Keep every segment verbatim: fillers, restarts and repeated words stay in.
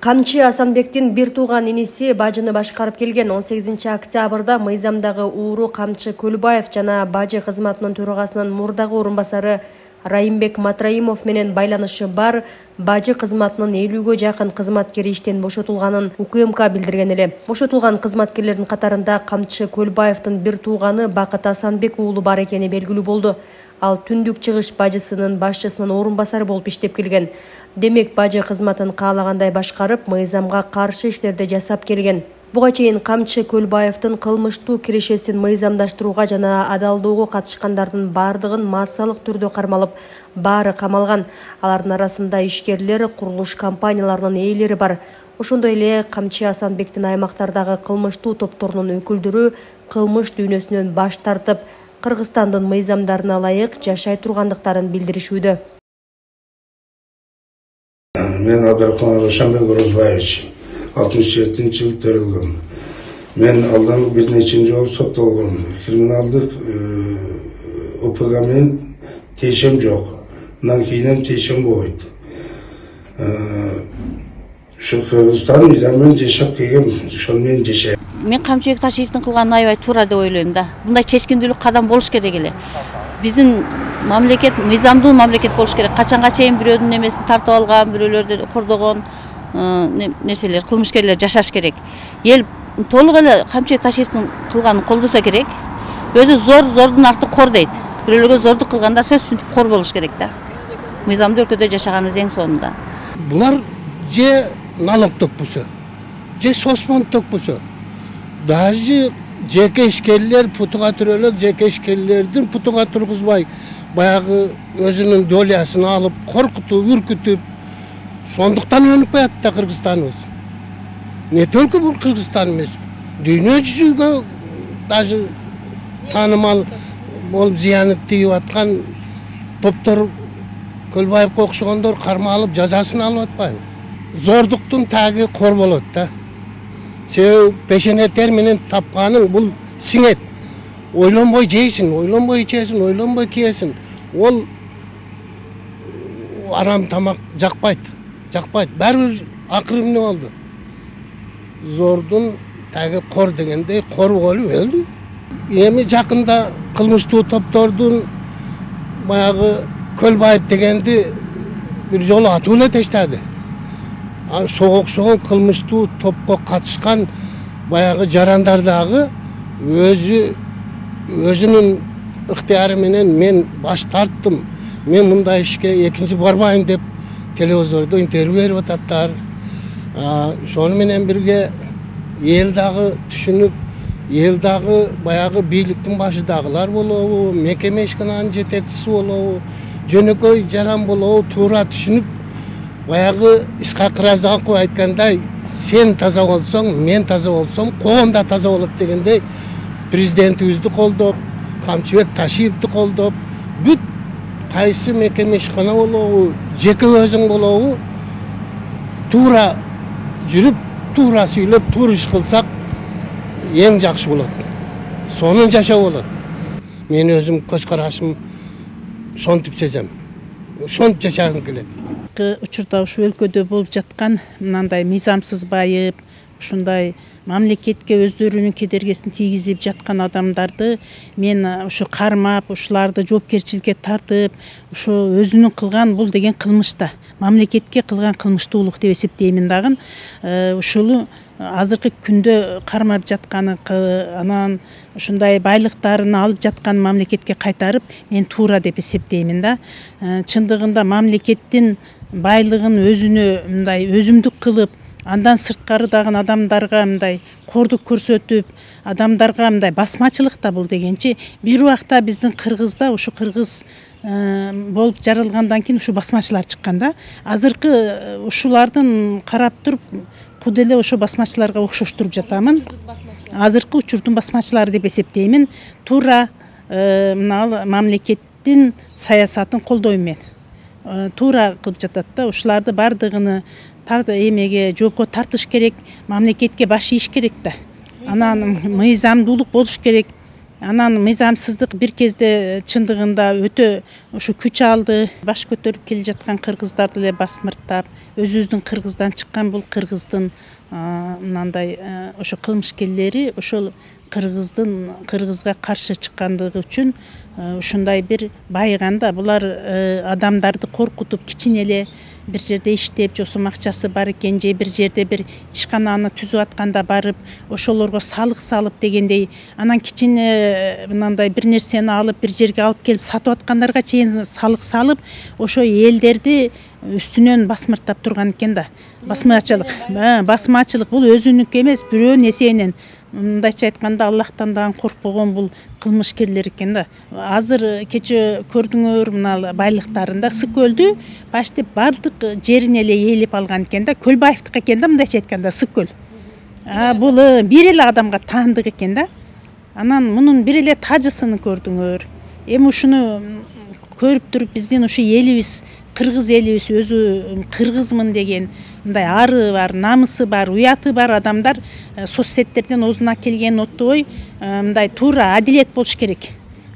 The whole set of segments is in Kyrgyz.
Камчы Асанбектин бир тууган иниси бажыны башкарып келген. он сегизинчи октябрда мыйзамдагы ууру Камчы Көлбаев жана бажы кызматынын төрагасынын мурдагы орун басары Райымбек Матраимов менен байланышы бар бажы кызматынын элүүгө жакын кызматкери иштен бошотулганын УКМК билдирген эле. Бошотулган кызматкерлердин катарында Камчы Көлбаевдин бир тууганы Бакыт Асанбек уулу бар экени белгилүү болду. Ал түндүк чыгыш бажысынын башчысынын орун басары болуп иштеп келген. Демек, бажы кызматын каалагандай башкарып, мыйзамга каршы иштерди жасап келген. Буга чейин Камчы Көлбаевдин кылмыштуу кирешесин мыйзамдаштырууга жана адалдоого катышкандардын бардыгын массалык түрдө кармалып, баары камалган. Алардын арасында ишкерлер, курулуш компанияларынын ээлери бар. Ошондой эле Камчы Асанбектин аймактардагы кылмыштуу топторунун өкүлдөрү кылмыш дүйнөсүнөн баш тартып, Кыргызстандын мыйзамдарына ылайык жашай тургандыктарын билдиришүүдө. Мен Абдрахман Рошанбек Орозбаевич, алтымыш жетинчи жыл төрөлгөм. Мен алдан бир нече жолу соттолгом. Криминалдык УПГ менен тиешем жок. Андан кийин тиешем болбойт. Ушу Кыргызстан мыйзамын жашап келгем, ошону менен жашайм. Мен Камчыбек Ташиевдин кылганын аябай туура деп ойлойм да. Мындай чечкиндүүлүк кадам болуш керек эле. Биздин мамлекет мыйзамдуу мамлекет болуш керек. Качанга чейин бирөөнүн эмесин тартып алган, бирөөлөрдү кордогон нерселер, кылмышкерлер жашаш керек. Эл толук эле Камчыбек Ташиевдин кылганын колдосо керек. Өзү зор, зордун арты кор дейт. Бирөөлөргө зордук кылганда сөзсүз кор болуш керек да. Мыйзамдуу өлкөдө жашаганыбыз эң сонунда. Булар же налог төкпөсө, же сосмон төкпөсө, даже жеке ишкерлер путуга төрөлөк, жеке ишкерлердин путуга тургузбай, баягы өзүнүн долясын алып, коркутуп, үркүтүп, сондуктан өнүп калат да Кыргызстаныбыз. Не только бул Кыргызстан эмес, дүйнө жүзүгө даже таанымал болуп зыяны тийип аткан топтор Көлбаевге окшогондор кармалып жазасын алып атпайбы? Зордуктун таги кор болот да. Себеби пешене тер менен тапканың бул сиңет. Ойлонбой жейсиң, ойлонбой ичесиң, ойлонбой кийесиң. Ол арам тамак жакпайт, жакпайт. Баары акыры эмне болду? Зордун таги кор дегендей кор болуп өлдү. Эми жакында кылмыштуу топтордун баягы Көлбаев дегенди бир жолу атып эле таштады. Ошого окшогон кылмыштуу топко катышкан баягы жарандар дагы өзү өзүнүн ыктыяры менен мен баш тарттым, мен мындай ишке экинчи барбайм деп телевизордо интервью берип ататтар. Ошону менен бирге эл дагы түшүнүп, эл дагы баягы бийликтин башыдагылар болобу, мекеме ишкананын жетекчиси болобу, жөнөкөй жаран болобу туура түшүнүп, баягы Исхак Разаков айткандай, сен таза болсоң, мен таза болсом, коом да таза болот дегендей, президентибизди колдоп, Камчыбек Ташиевди колдоп, бүт кайсы мекеме ишкана болобу, жеке өзүң болобу, туура жүрүп, туура сүйлөп, туура иш кылсак эң жакшы болот. Сонун жашоо болот. Мен өзүм көз карашым сонтип сезем. Сонтип жашагым келет. Учурда ушу өлкөдө болуп жаткан мындай мыйзамсыз байып, ушундай мамлекетке өздөрүнүн кедергесин тийгизип жаткан адамдарды мен ушу кармап, ушуларды жоопкерчиликке тартып, ушу өзүнүн кылган бул деген кылмышта, мамлекетке кылган кылмыштуулук деп эсептеймин дагы. Ушул азыркы күндө кармап жатканы, анан ушундай байлыктарын алып жаткан мамлекетке кайтарып, мен туура деп эсептеймин да. Чындыгында мамлекеттин байлыгын өзүнө мындай өзүмдүк кылып, андан сырткары дагы адамдарга мындай кордук көрсөтүп, адамдарга мындай басмачылык да бул дегенчи, бир убакта биздин Кыргызда ушу кыргыз болуп жаралгандан кийин ушу басмачылар чыккан да. Азыркы ушулардын карап туруп, куд эле ошо басмачыларга окшоштуруп жатамын. Азыркы учурдун басмачылары деп эсептеймин. Туура мына мамлекеттин саясатын колдойм мен. Туура кылып жатат да. Ушуларды бардыгыны эмеге жоопко тартыш керек, мамлекетке баш ийиш керек да. Анан мыйзамдуулук болуш керек. Анан мыйзамсыздык бир кезде чындыгында өтө ушу күч алды. Баш көтөрүп келе жаткан кыргыздарды эле басмырттап, өзүбүздүн кыргыздан чыккан бул кыргыздын мынандай ошо кылмышкерлери ошол кыргыздын кыргызга каршы чыккандыгы үчүн ушундай бир байыганда булар адамдарды коркутуп кичине эле бир жерде иштеп жосум акчасы бар экен же бир жерде бир ишкананы түзүп атканда барып ошолорго салык салып дегендей анан кичине мындай бир нерсени алып бир жерге алып келип сатып аткандарга чейин салык салып ошо элдерди үстүнөн басмырттап турган экен да. Басмачылык басмачылык бул өзүнүкү эмес, бирөөнүн эсебинен. Мындайча айтканда Аллахтан дагы коркпогон бул кылмышкерлер экен да. Азыр кече көрдүңөр мына байлыктарында Ысык көлдү почти бардык жерин эле ээлеп алган экен да. Көлбаевдики экен да, мындайча айтканда Ысык көл. А бул бир эле адамга таандык экен да. Анан мунун бир эле тажысын көрдүңөр. Эми ушуну көрүп туруп биздин ушу элибиз, кыргыз элибиз өзү кыргызмын деген мындай ары бар, намысы бар, уяты бар адамдар соцсеттерден оозуна келген оттобой мындай туура адилет болуш керек.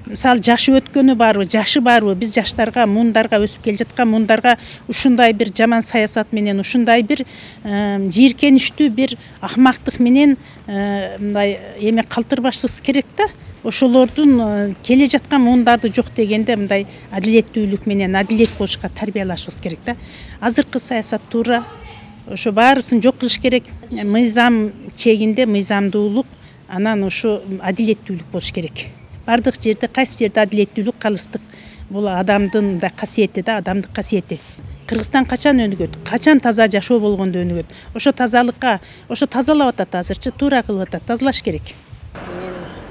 Мисалы жашы өткөнү барбы, жашы барбы, биз жаштарга, муундарга, өсүп келе жаткан муундарга ушундай бир жаман саясат менен, ушундай бир жийиркеничтүү бир акмактык менен мындай эме калтырбашыбыз керек да. Ошолордун келе жаткан муундарды жок дегенде мындай адилеттүүлүк менен адилет болушка тарбиялашыбыз керек да. Азыркы саясат туура ошо баарысын жок кылыш керек. Мыйзам чегинде мыйзамдуулук, анан ошо адилеттүүлүк болуш керек. Бардык жерде кайсы жерде адилеттүүлүк, калыстык бул адамдын мындай касиети да, адамдык касиети. Кыргызстан качан өнүгөт? Качан таза жашоо болгондо өнүгөт? Ошо тазалыкка, ошо тазалап атат азырчы, туура кылып атат, тазалаш керек.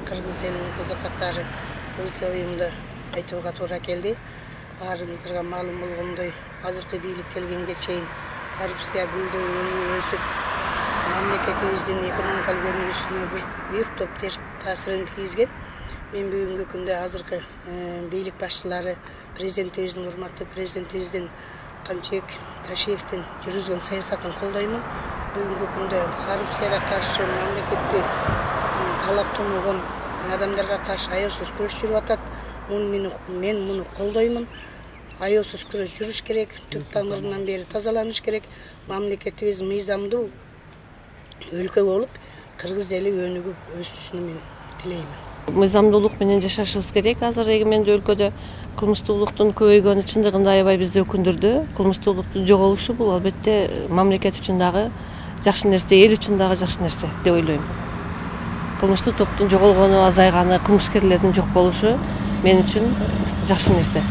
Кыргыз элинин кызы катары өз оюмду айтууга туура келди. Баарыңыздарга маалым болгондой, азыркы бийлик келгенге чейин коррупция гүлдөп, өнүгүп өсүп, мамлекетибиздин экономикалык өнүгүшүнө бир топ терс таасирин тийгизген. Мен бүгүнкү күндө азыркы бийлик башчылары, президентибиздин, урматтуу президентибиздин Камчыбек Ташиевдин жүргүзгөн саясатын колдоймун. Бүгүнкү күндө коррупцияга каршы мамлекетти талаптануган адамдарга каршы аеосуз күрөш жүрүп атат. Мен муну колдоймун. Аеосуз күрөш жүрүш керек, түп тамырынан бери тазаланыш керек. Мамлекетибиз мыйзамдуу өлкө болуп, кыргыз эли өнүгүп өсүшүн мен тилеймин. Мыйзамдуулук менен жашашыбыз керек. Азыр эгемендүү өлкөдө кылмыштуулуктун көбөйгөнү чындыгында аябай бизди өкүндүрдү. Кылмыштуулуктун жоголушу бул албетте мамлекет үчүн дагы жакшы нерсе, эл үчүн дагы жакшы нерсе деп ойлойм. Кылмыштуу топтун жоголгону, азайганы, кылмышкерлердин жок болушу мен үчүн жакшы нерсе.